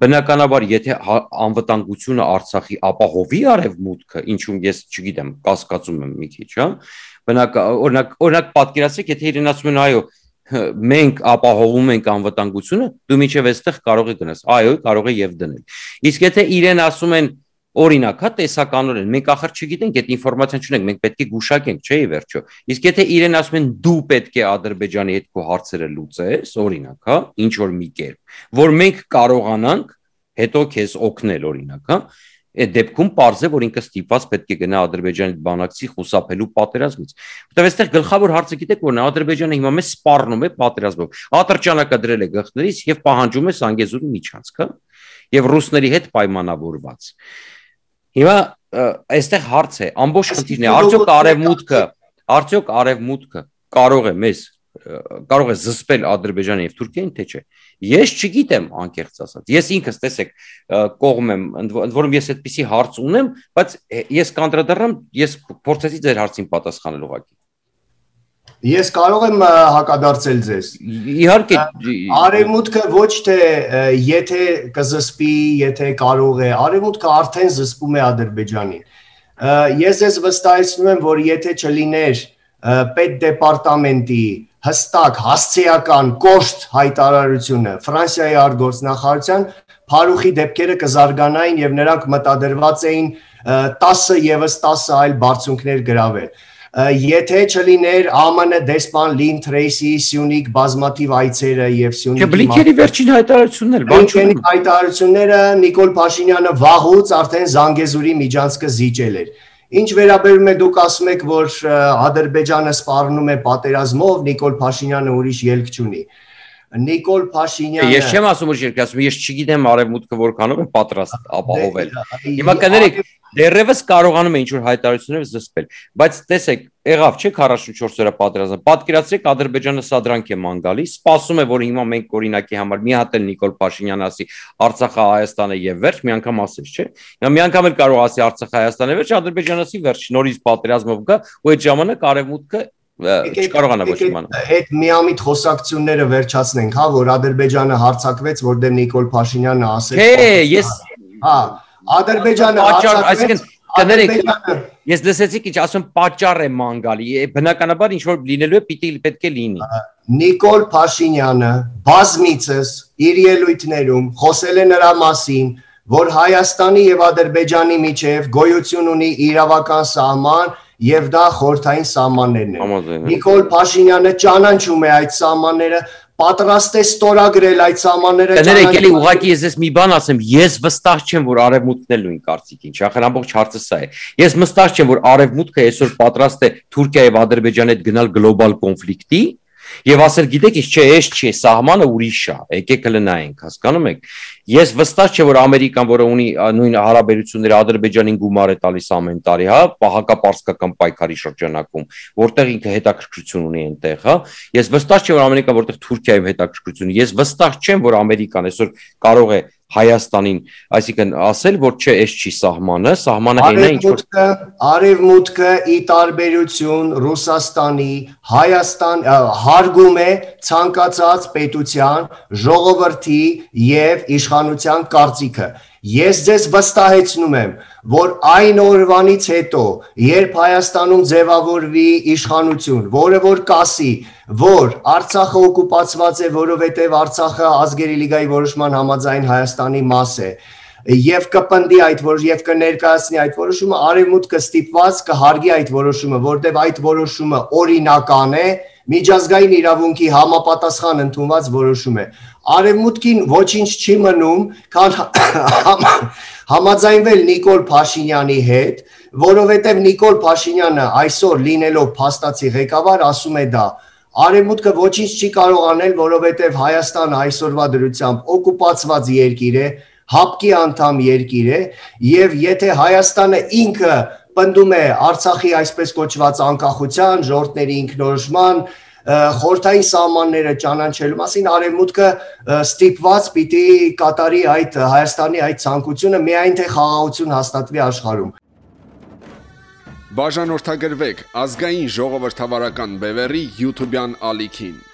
բնականաբար եթե անվտանգությունը Արցախի ապահովի արևմուտքը, ինչում ես չգիտեմ, կասկածում եմ մի քիչ, հա, օրինակ պատկերացրեք, եթե իրեն ասում են այո, մենք ապահովում ենք անվտանգությունը, դու միջև այստեղ կարող ես գնաս, այո, կարող է եւ դնել։ Իսկ եթե իրեն ասում են օրինակ, հա, տեսականորեն, մենք ախր չգիտենք, այդ ինֆորմացիան չունենք, մենք պետք է գուշակենք, չէ՞ ի վերջո։ Իսկ եթե իրեն ասում են դու պետք է Ադրբեջանի հետ քո հարցերը լուծես, օրինակ, հա, ինչ որ մի կերպ, որ մենք կարողանանք հետո քեզ օգնել, օրինակ, հա, այդ դեպքում պարզ է, որ ինքը ստիպված պետք է գնա Ադրբեջանի բանակցի խուսափելու պատերազմից։ Որտեւ այստեղ գլխավոր հարցը գիտեք որն է, Ադրբեջանը հիմա մեզ սպառնում է պատերազմով։ Ատրճանակը դրել է գլխներից եւ պահանջում է Սանգեզուրի միջանցք, հա, եւ ռուսների հետ պայմանավորված։ Հիմա այստեղ հարց է, ամբողջ խնդիրն է, արդյոք արևմուտքը կարող է զսպել Ադրբեջանը եւ Թուրքիային, թե չէ։ Ես չգիտեմ, անկեղծ ասած։ Ես ինքս տեսեք կողմ եմ, ընդ որում ես այդպիսի հարց ունեմ, բայց ես կանդրադառնամ, ես փորձեցի ձեր հարցին պատասխանել ուղղակի։ Ես կարող եմ հակադարձել ձեզ։ Իհարկե, արևմուտքը ոչ թե եթե կզսպի, եթե կարող է, արևմուտքը արդեն զսպում է Ադրբեջանին։ Ես ես վստահեցնում եմ, որ եթե չլիներ պետդեպարտամենտի հստակ հասցեական կոշտ հայտարարությունը Ֆրանսիայի արտգործնախարարության, Փարուխի դեպքերը կզարգանային եւ նրանք մտադրված էին 10 եւս 10 այլ բարձունքներ գրավել։ Եթե չլիներ ԱՄՆ դեսպան Լին Թրեյսի Սյունիք բազմաթիվ այցերը եւ Սյունիքի Բլինքենի վերջին հայտարարությունները Նիկոլ Փաշինյանը վաղուց արդեն Զանգեզուրի միջանցքը զիջել էր։ Ինչ վերաբերում է դուք ասում եք, որ Ադրբեջանը սպառնում է պատերազմով, Նիկոլ Փաշինյանը ուրիշ ելք չունի։ Նիկոլ Փաշինյանը Ես չեմ ասում ուրիշ ելք, ասում ես չգիտեմ արևմուտքը որքանով է պատրաստ ապահովել։ Հիմա կներեք, դեռևս կարողանում է ինչ-որ հայտարարություններ զսպել, բայց տեսեք, եղավ չէ 44 օրյա պատերազմը, պատկերացրեք Ադրբեջանը սադրանք է ման գալիս, սպասում է, որ հիմա մենք օրինակի համար մի հատ էլ Նիկոլ Փաշինյանը ասի Արցախը Հայաստանը եւ վերջ, մի անգամ ասես, չէ։ Հիմա մի անգամ էլ կարող ասի Արցախը Հայաստանը վերջ, Ադրբեջանը ասի վերջ, նորից պատերազմով գա, ու այդ ժամանակ արևմուտքը չկարողանա ոչ իմանալ։ Այդ միամիտ խոսակցությունները վերջացնենք, հա, որ Ադրբեջանը հարձակվեց, որտեղ Նիկոլ Փաշինյանը ասեց։ Չէ, ես հա Ադրբեջանը այսինքն կներեք, ես լսեցի ինչ ասում պատճառ է ման գալի, բնականաբար ինչ որ լինելու է պետք է լինի։ Նիկոլ Փաշինյանը բազմիցս իր ելույթներում խոսել է նրա մասին, որ Հայաստանի եւ Ադրբեջանի միջև գոյություն ունի իրավական սահման եւ դա խորհրդային սահմաններն են։ Նիկոլ Փաշինյանը ճանաչում է այդ սահմանները, պատրաստ է ստորագրել այդ սահմանները։ Կներեք, էլի ուղղակի ես մի բան ասեմ, ես վստահ չեմ, որ արևմուտքն էլ նույն կարծիքին չի, ախր ամբողջ հարցը սա է։ Ես վստահ չեմ, որ արևմուտքը այսօր պատրաստ է Թուրքիա եւ Ադրբեջանի հետ գնալ գլոբալ կոնֆլիկտի եւ ասել, գիտեք, ինչ չէ, էս չի, սահմանը ուրիշ է, եկեք լնայենք, հասկանում եք։ Ես վստահ չեմ, որ Ամերիկան, որը ունի նույն հարաբերությունները Ադրբեջանին գումար է տալիս ամեն տարի, հա, հակապարսկական պայքարի շրջանակում, որտեղ ինքը հետաքրքրություն ունի այնտեղ, հա։ Ես վստահ չեմ, որ Ամերիկան որտեղ Թուրքիայում հետաքրքրություն, ես վստահ չեմ, որ Ամերիկան այսօր կարող է Հայաստանին, այսինքն ասել, որ չէ, էս չի սահմանը հենա ինչ որ արևմուտքը ի տարբերություն Ռուսաստանի, Հայաստան հարգում է ցանկացած պետության, ժողովրդի եւ իշխանության կարծիքը։ Ես ձեզ վստահեցնում եմ, որ այն օրվանից հետո, երբ Հայաստանում ձևավորվի իշխանություն, որը որ կասի, որ Արցախը օկուպացված է, որովհետև Արցախը ազգերի լիգայի որոշման համաձայն Հայաստանի մաս է, եւ կպնդի այդ եւ կներկայացնի այդ որոշումը, արևմուտքը ստիպված կհարգի այդ որոշումը, որտեղ այդ որոշումը օրինական է, միջազգային իրավունքի համապատասխան ընդունված որոշում է։ Արևմուտքին ոչինչ չի մնում, քան համաձայնվել Նիկոլ Փաշինյանի հետ, որովհետև Նիկոլ Փաշինյանը այսօր լինելով փաստացի ղեկավար ասում է դա։ Արևմուտքը ոչինչ չի կարող անել, որովհետև Հայաստանը այսօրվա դրությամբ օկուպացված երկիր է, հապկի անդամ երկիր է, եւ եթե Հայաստանը ինքը պնդում է Արցախի այսպես կոչված անկախության, ժողովրդների ինքնորոշման, խորհրդային սահմանները ճանաչելու մասին արևմուտքը ստիպված պիտի կատարի այդ Հայաստանի այդ ցանկությունը, միայն թե խաղաղություն հաստատվի աշխարհում։ Բաժանորդագրվեք ազգային ժողովրդավարական բևեռի YouTube-յան ալիքին։